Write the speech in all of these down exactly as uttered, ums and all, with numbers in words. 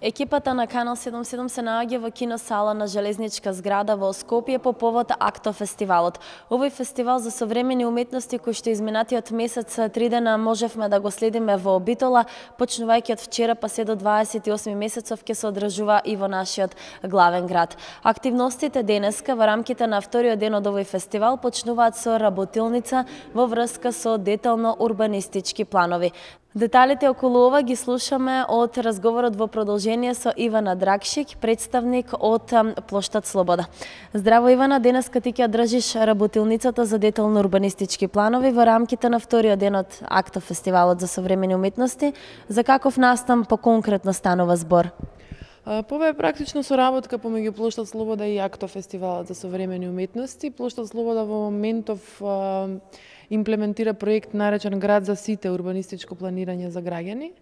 Екипата на Канал седумдесет и седум се наоѓа во киносала на Железничка зграда во Скопје по повод Акто фестивалот. Овој фестивал за современи уметности кој што изминатиот месец три дена можевме да го следиме во Битола, почнувајќи од вчера па се до дваесет и осми месецов ќе се одржува и во нашиот главен град. Активностите денеска во рамките на вториот ден од овој фестивал почнуваат со работилница во врска со детално урбанистички планови. Деталите околу ова ги слушаме од разговорот во продолжение со Ивана Драгшик, представник од Плоштад Слобода. Здраво Ивана, денеска ти ќе одржиш работилницата за детално урбанистички планови во рамките на вториот ден од Акто фестивалот за современи уметности. За каков настан по-конкретно станува збор? Ова е практично соработка помеѓу Плоштад Слобода и Акто фестивалот за современи уметности. Плоштад Слобода во моментов имплементира проект наречен Град за сите, урбанистичко планирање за граѓани.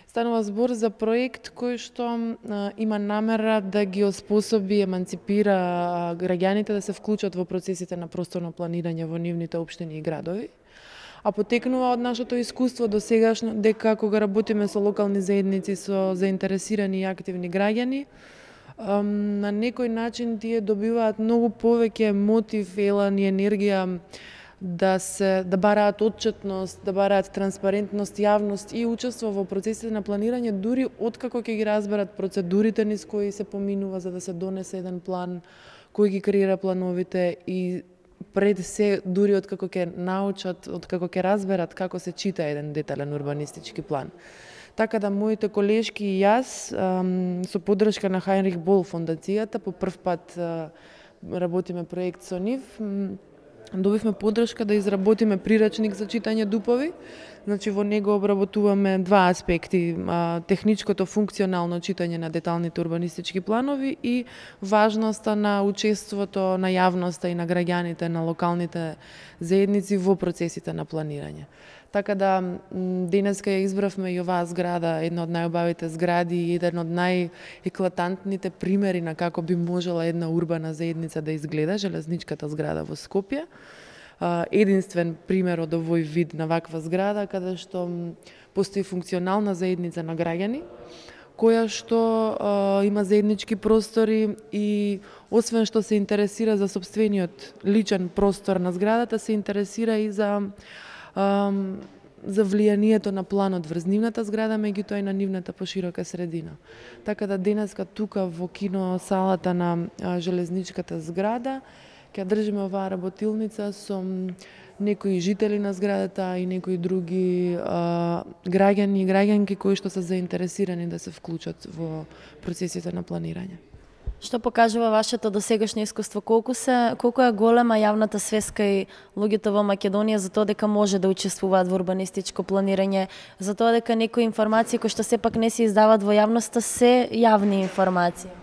Станува збор за проект кој што а, има намера да ги оспособи, еманципира граѓаните да се вклучат во процесите на просторно планирање во нивните општини и градови. А потекнува од нашето искуство до сегашно дека кога работиме со локални заедници, со заинтересирани и активни граѓани, на некој начин тие добиваат многу повеќе мотив, елан и енергија да се да бараат отчетност, да бараат транспарентност, јавност и учество во процесите на планирање, дури откако ќе ги разберат процедурите низ кои се поминува за да се донесе еден план, кој ги креира плановите и пред се дури откако ќе научат, откако ќе разберат како се чита еден детален урбанистички план. Така да моите колешки и јас со поддршка на Хајнрих Бол фондацијата по прв пат работиме проект со нив. Добивме поддршка да изработиме прирачник за читање дупови. Значи во него обработуваме два аспекти: техничкото функционално читање на деталните урбанистички планови и важноста на учеството на јавноста и на граѓаните на локалните заедници во процесите на планирање. Така да денеска ја избравме и оваа зграда, една од најубавите згради и еден од најеклатантните примери на како би можела една урбана заедница да изгледа, Железничката зграда во Скопје. Единствен пример од овој вид на ваква зграда, каде што постои функционална заедница на граѓани, која што а, има заеднички простори и освен што се интересира за сопствениот личен простор на зградата, се интересира и за а, за влијанието на планот врз нивната зграда, меѓутоа и на нивната поширока средина. Така да денеска тука во киносалата на а, Железничката зграда ќе држиме оваа работилница со некои жители на зградата и некои други а, граѓани и граѓанки кои што се заинтересирани да се вклучат во процесите на планирање. Што покажува вашето досегашно искуство? Колку се колку е голема јавната свеска и луѓето во Македонија за тоа дека може да учествуваат во урбанистичко планирање, за тоа дека некои информации кои што сепак не се издаваат во јавноста се јавни информации?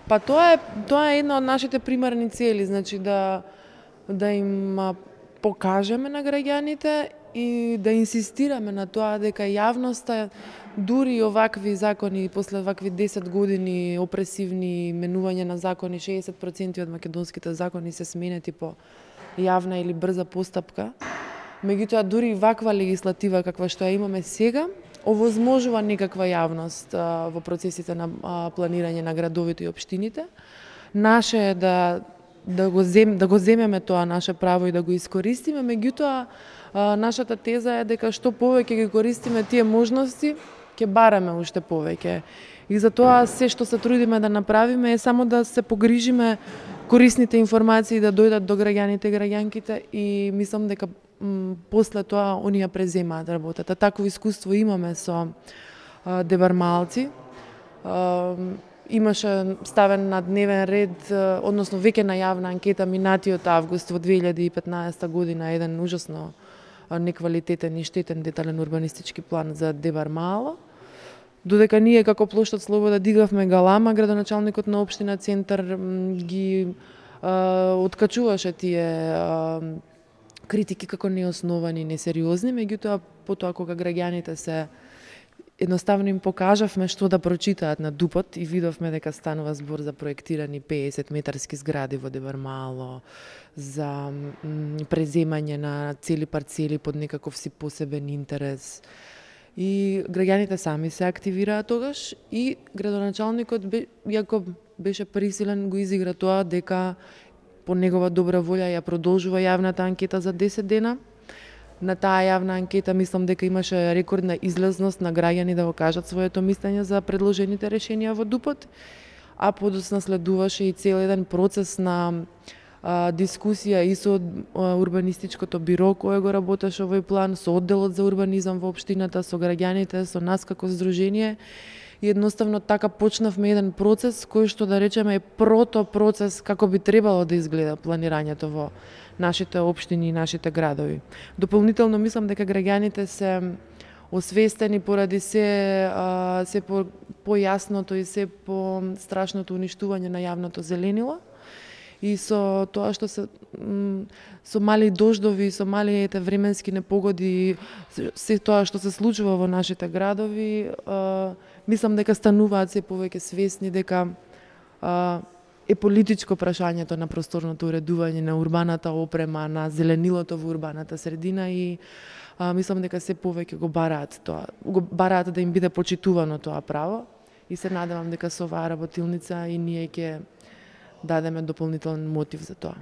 Па тоа е тоа е една од нашите примарни цели, значи да да им покажеме на граѓаните и да инсистираме на тоа дека јавноста дури овакви закони после овакви десет години опресивни менување на закони, шеесет проценти од македонските закони се сменети по јавна или брза постапка. Меѓутоа дури ваква легислатива каква што ја имаме сега овозможува некаква јавност а, во процесите на а, планирање на градовите и општините. Наше е да да го зем да го земеме тоа наше право и да го искористиме, меѓутоа а, нашата теза е дека што повеќе ги користиме тие можности, ќе бараме уште повеќе. И затоа се што се трудиме да направиме е само да се погрижиме корисните информации да дојдат до граѓаните и граѓанките и мислам дека после тоа оние преземаат работата. Такво искуство имаме со а, Дебармалци. А, имаше ставен на дневен ред, а, односно веќе најавна анкета минатиот август во две илјади и петнаесета година, еден ужасно а, неквалитетен и штетен детален урбанистички план за Дебармало. Додека ние како Плоштад Слобода дигавме галама, градоначалникот на општина Центар ги а, откачуваше тие а, критики како неосновани, несериозни, меѓутоа потоа кога граѓаните се едноставно им покажавме што да прочитаат на дупот и видовме дека станува збор за проектирани пеесет метарски згради во Дебармало, за преземање на цели парцели под некаков си посебен интерес. и граѓаните сами се активираа тогаш и градоначалникот, иако беше присилен, го изигра тоа дека по негова добра волја ја продолжува јавната анкета за десет дена. На таа јавна анкета мислам дека имаше рекордна излезност на граѓани да го кажат своето мислење за предложените решенија во ДУП-от, а подоцна следуваше и цел еден процес на а, дискусија и со а, урбанистичкото биро кое го работеше овој план, со одделот за урбанизам во општината, со граѓаните, со нас како здружение. И едноставно така почнавме еден процес кој што да речеме е прото процес како би требало да изгледа планирањето во нашите општини и нашите градови. Дополнително мислам дека граѓаните се освестени поради се а, се по појасното и се по страшното уништување на јавното зеленило. И со тоа што се со мали дождови, со мали ете временски непогоди, се тоа што се случува во нашите градови, а, мислам дека стануваат се повеќе свесни дека а, е политичко прашањето на просторното уредување на урбаната опрема, на зеленилото во урбаната средина и а, мислам дека се повеќе го бараат тоа, го бараат да им биде почитувано тоа право и се надевам дека со оваа работилница и ние ќе дадеме дополнителен мотив за тоа.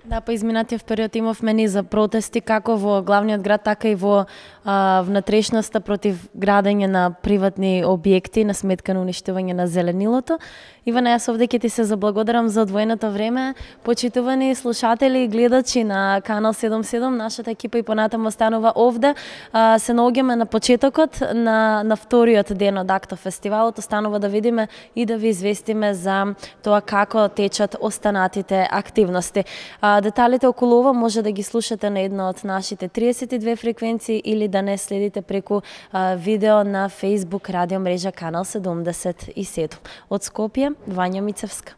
Да, по изминатиот период имавме низ за протести како во главниот град, така и во а, внатрешноста против градење на приватни објекти на сметка на уништување на зеленилото. Ивана, јас овде ќе ти се заблагодарам за одвоеното време. Почитувани слушатели и гледачи на Канал седумдесет и седум, нашата екипа и понатаму останува овде. А, се наоѓаме на почетокот на, на вториот ден од Акто фестивалот. Останува да видиме и да ви известиме за тоа како течат останатите активности. А, деталите околу ова може да ги слушате на една од нашите триесет и две фреквенции или да не следите преку а, видео на Facebook радио мрежа Канал седумдесет и седум. Од Скопје, Вања Мицевска.